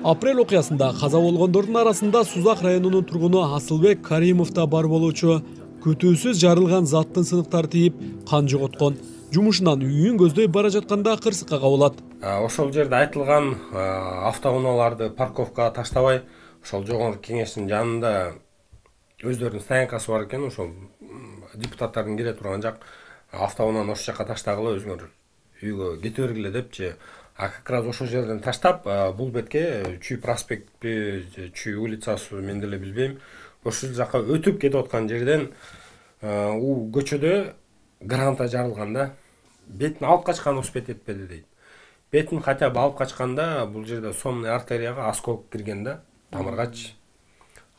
Апрель окуясында каза болгондордун арасында Сузак районунун тургуну Асылбек Каримов да бар болуучу. Күтүүсүз жарылган заттын сыныктары тийип, кан жоготкон. Жумушунан үйүн көздөй бара жатканда кырсыкка кабылат. Ошол жерде айтылган автоунааларды парковкага таштабай, ошол жогорку кеңештин жанында өздөрүнүн стоянкасы бар экен, ошол депутаттардын кире турган жак автоунааны ошол жака таштагыла, өзүңөр үйгө кете бергиле депчи. Как раз ошол жерден таштап, бул бетке Чүй проспектпи, Чүй улицасы мен деле билбейм. Ошол жака өтүп кетип аткан жерден көчөдө граната жарылганда бетин алып качкан успеть этпеди дейт. Бетин хотя бы алып качканда бул жерде сонный артерияга осколок кирген да, тамыргач.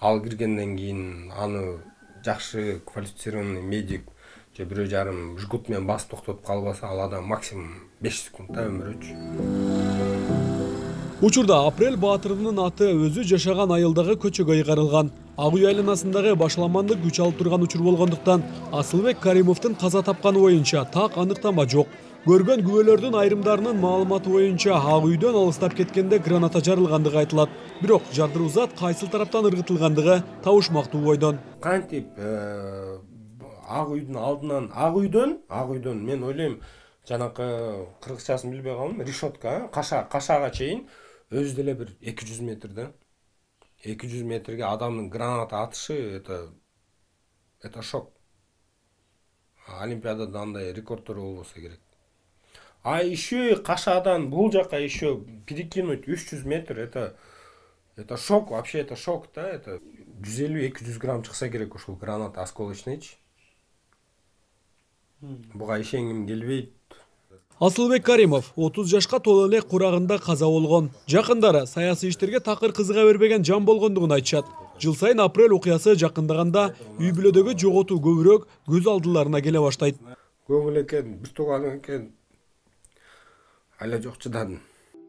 Ал киргенден кийин аны жакшы квалифицированный медик же 1,5 жгут менен басып токтотуп калбаса, ал адам максимум 5 секундта өмүр өчү. Учурда Апрель Баатырдын аты өзү жашаган айылдагы көчөгө ыйгарылган. Ак үй айланасындагы башаламандык күч алып турган учур болгондуктан Асылбек Каримовдун каза тапканы боюнча так аныктама жок. Көргөн күбөлөрдүн айрымдарынын маалыматы боюнча ак үйдөн алыстап кеткенде граната жарылгандыгы айтылат. Бирок жардыруу зат кайсыл тараптан ыргытылгандыгы табышмактуу бойдон. Кантип ак үйдүн алдынан ак үйдөн мен ойлойм жанакы кыргызчасын билбей калдым, решетка, кашаага чейин өзү деле бир 200 метрде. 200 метрге адамдын граната атышы это шок. Олимпиадада андай рекордтору болбосо керек. А еще кашадан бул жака еще перекинуть 300 метр, это шок, вообще это шок, да, это 150-200 грамм чыкса керек ошол граната осколочныйчы. Буга ишенгим келбейт. Асылбек Каримов 30 жашка толо эле курагында каза болгон. Жакындары саясий иштерге такыр кызыга бербеген жан болгондугун айтышат. Жыл сайын Апрель окуясы жакындаганда үй бүлөдөгү жоготуу көбүрөөк көз алдыларына келе баштайт. Көңүл экен, бир тууган экен. Айла жок чыдадым.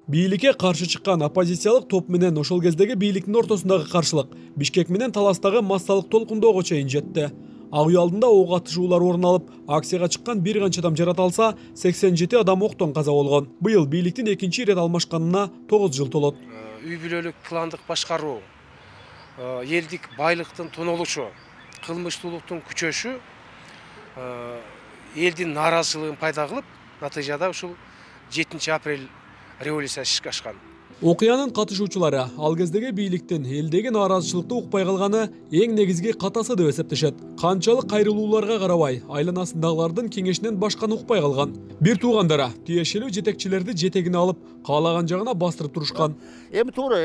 Бийликке каршы чыккан оппозициялык топ менен ошол кездеги бийликтин ортосундагы каршылык Бишкек менен Таластагы массалык толкундоого чейин жетти. Ак үй алдында ок атышуулар орун алып, акцияга чыккан бир канча адам жаратылса, 87 адам октон каза болгон. Быйыл бийликтин экинчи ирет алмашканына 9 жыл толот. Үй бүлөлүк пландык башкаруу, элдик байлыктын тонолушу, кылмыштуулуктун күчөшү элдин нааразычылыгын пайда кылып, натыйжада ушул 7 апрель революциясы ишке ашкан. Окуянын катышуучулары ал кездеги бийликтин элдеги нааразычылыкты укпай калганы эң негизги катасы деп эсептешет. Канчалык кайрылууларга карабай, айланасындагылардын кеңешинен башканы укпай калган. Бир туугандары тиешелүү жетекчилерди жетегине алып, каалаган жагына бастырып турушкан. Эми туура,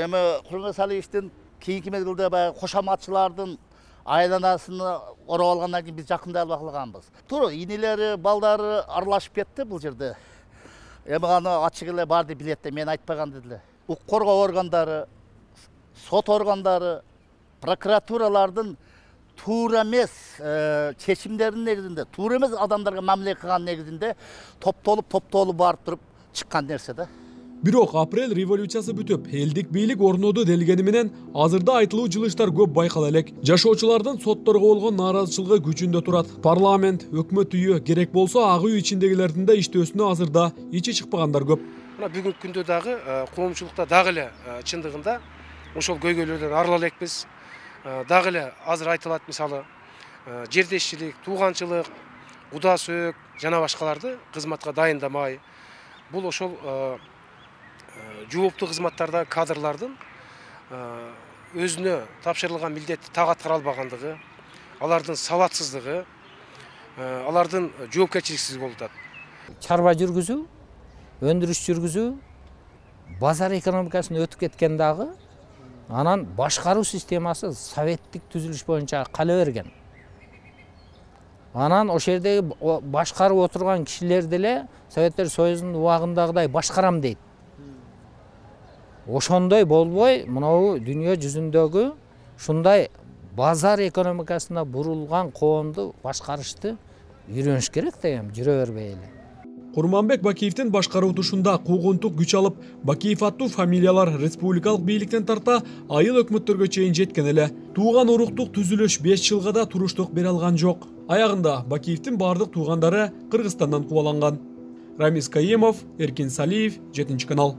Курмансалиевдин кийинки мезгилде баягы кошоматчылардын айланасыны ороп алгандан кийин биз жакындай албай калганбыз. Туура, инелери, балдары аралашып кетти бул жерде. Эми аны ачык эле барды билет да, мен айтпаган деле. Укук коргоо органдары, сот органдары, прокуратуралардын туура эмес чечимдеринин негизинде, туура эмес адамдарга мамиле кылган негизинде топтолуп барып туруп чыккан нерсе да. Бирок Апрель революциясы бүтүп, элдик бийлик орноду делгени менен азырда айтылуу жылыштар көп байкала элек. Жашоочулардын сотторго болгон нааразычылыгы күчүндө турат. Парламент, өкмөт үйү керек болсо ак үй ичиндегилердин да иштөөсүнө азырда ичи чыкпагандар көп. Мына бүгүнкү күндө дагы коомчулукта дагы эле чындыгында ошол көйгөйлөрдөн арыла элекпиз. Дагы эле азыр айтылат, мисалы, жердешчилик, тууганчылык, куда сөөк жана башкаларды кызматка дайындамай, бул ошол жооптуу кызматтардагы кадрлардын өзүнө тапшырылган милдетти так аткара албагандыгы, алардын сабатсыздыгы, алардын жоопкерчиликсиздиги болуп атат. Чарба жүргүзүү, өндүрүш жүргүзүү, базар экономикасына өтүп кеткен дагы, анан башкаруу системасы советтик түзүлүш боюнча кала берген. Анан ошол жердеги башкарып отурган кишилер деле Советтер Союзунун убагындагыдай башкарам дейт. Ошондой болбой, мынау дүйнө жүзүндөгү ушундай базар экономикасына бурулган коомду башкарышты үйрөнүш керек деген, жүрө бербей эле. Курманбек Бакиевдин башкаруутушунда куугунтук күч алып, Бакиев аттуу фамилиялар республикалык бийликтен тарта айыл өкмөттөргө чейин жеткен эле. Тууган уруктук түзүлүш 5 жылга да туруштук бере алган жок. Аягында Бакиевдин бардык туугандары Кыргызстандан кубаланган. Рамис Каимов, Эркин Салиев, 7 канал.